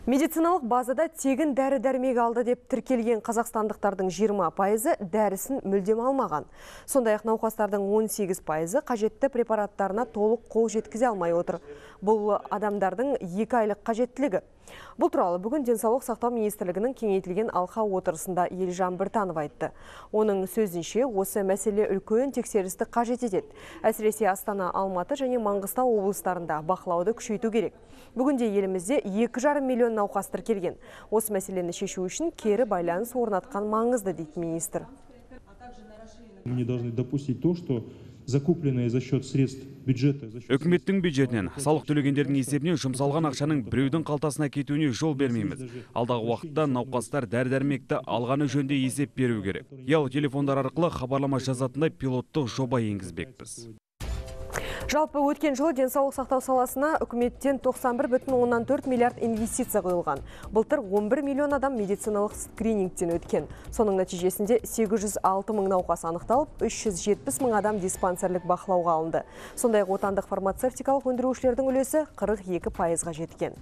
Медициналық базада тегін дәрі-дәрмек алды деп тіркелген қазақстандықтардың 20%-ы дәрісін мүлдем алмаған. Сондай-ақ науқастардың 18%-ы қажетті препараттарына толық қол жеткізе алмай отыр. Бұл адамдардың 2 айлық қажеттілігі. Бұл туралы бүгін Денсаулық сақтау министрлігінің кеңейтілген алқа отырысында Елжан Біртанов айтты. Оның сөзінше, осы мәселе үлкен тексерісті қажет етеді. Әсіресе Астана, Алматы және Маңғыстау облыстарында бақылауды күшейту керек. Бүгінде елімізде 2,5 миллион науқас тіркелген. Осы мәселені шешу үшін кері байланыс орнатқан маңызды, дейді министр. Мы не должны допустить то, что закупленные за счет средств бюджета. Үкіметтің бюджетінен, салық төлегендердің есебінен жұмсалған ақшаның біреудің қалтасына кетуіне жол бермейміз. Алдағы уақытта науқастар дәрі-дәрмекті алғаны жөнде есеп беру керек. Ұялы телефондар арқылы хабарлама жазатындай пилоттық жоба енгізбекпіз. Жалпы өткен жылы денсаулық сақтау саласына үкіметтен 91,4 миллиард инвестиция құйылған. Былтыр 11 миллион адам медициналық скринингтен өткен. Соның нәтижесінде 806 мың науқас анықталып, 370 мың адам диспансерлік бақылауға алынды. Сондай-ақ отандық фармацевтикалық өндірушілердің үлесі 42%-ға жеткен.